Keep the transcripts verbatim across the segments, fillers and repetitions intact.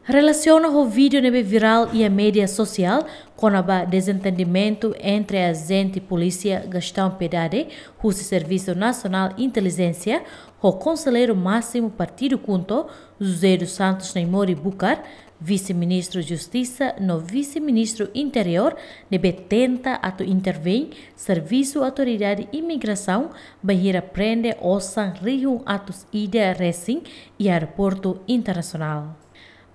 Relasiona ho vídeo ne'ebé virál iha média sosiál kona-ba dezentendimentu entre ajente polísia Gastão Piedade, husi Servisu Nasionál Intelijénsia, ho Konselleiru Másimu Partidu KHUNTO, José dos Santos Naimori Bucar, Vise-Ministru Justisa no Vise-Ministru Interiór, ne'ebé tenta atu intervein Servisu Autoridade Imigrasaun bainhira prende osan rihun atus ida resin iha aeroportu internasionál.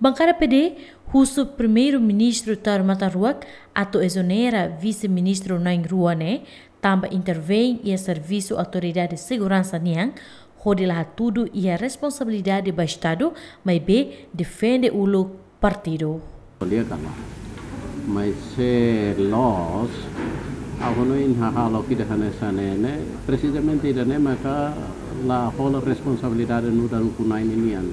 Bankada P D husu Primeiru-Ministru Taur Matan Ruak atu ezonera Vise-Ministru na'in-rua ne'e, tanba intervein iha servisu autoridade seguransa nian, hodi la hatudu iha responsabilidade ba Estadu, maibé defende uluk partidu. Kolega la. Mas se loos, ha'u hanoin hahalok ida hanesan ne'e, presizamente ida-ne'e maka la hola responsabilidade nu'udar ukun-na'in nian.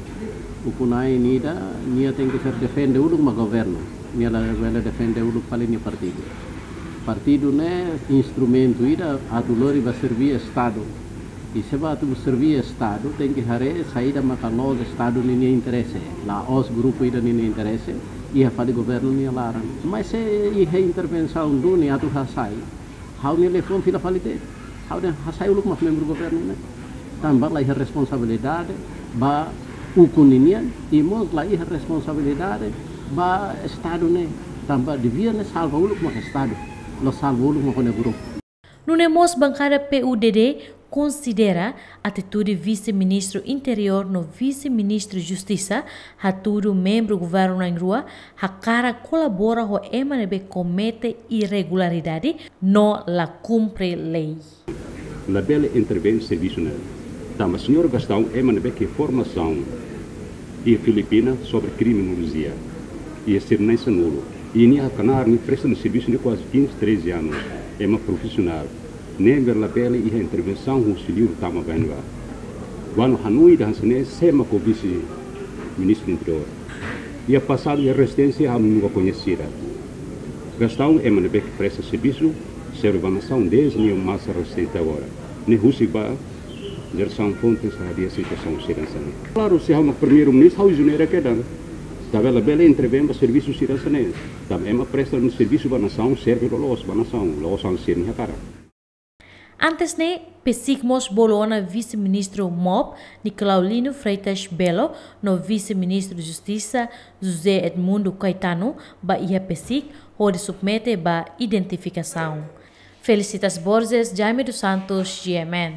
Ukun-na'in ida, nia tenke ser defende uluk mak governu. Nia labele defende uluk fali nia partidu. Partidu ne'e instrumentu ida atu lori ba serví Estadu. I se ba atu serví Estadu, tenke haree saida maka loos Estadu ninia interese, la'ós grupu ida ninia interese, iha fali governu nia laran. Mas se iha intervensaun duni atu hasai, ha'u-nia liafuan fila fali de'it. Ha'u dehan hasai uluk mak membru governu ne'e. Tanba la iha responsabilidade ba ukun ninian, i mós la iha responsabilidade ba Estadu ne'e. Tanba devia ne'e salva uluk mak Estadu, la salva uluk mak ha'u-nia grupu. Nune'e mós bankada P U D D konsidera atitude Vise-Ministru Interiór no Vise-Ministru Justisa, hatudu membru governu na'in-rua hakarak kolabora ho ema ne'ebé komete irregularidade no la kumpre lei. Labele intervein servisu ne'e. Tanba señór Gastão ema ne'ebé ke formasaun iha Filipina sobre kriminolojia, iha sira na'in sanulu. I nia hakarak nia presta nia servisu ne'e kuaze kinze, treze anos. Ema profisionál. Ne'ebé labele iha intervensaun husi liur tama ba ne'ebá. Kuandu hanoin ida hanesan ne'e, sé mak Vise-Ministru Interiór. Iha pasadu iha rezisténsia ami nunka koñese ida. Gastão ema ne'ebé ke presta servisu, serve ba nasaun dezde nia masa rezisténsia agora. Ne'e husik ba Gerson Fontes hadi'a situasaun sira hanesan ne'e. Klaru, se ha'u mak Primeiru-Ministru, ha'u ezonera kedan. Tanba labele intervein ba servisu sira hanesan ne'e. Tanba ema presta servisu ba nasaun, serve loloos ba nasaun, la'ós hanesan sira-nia hakarak. Antes ne'e, PCIC mós bolu ona Vise-Ministru MOP, Nicolau Lino Freitas Belo, no Vise-Ministru Justisa, José Edmundo Caetano, ba iha PCIC, hodi submete ba identifikasaun. Felicitas Borges, Jaime dos Santos, G M N.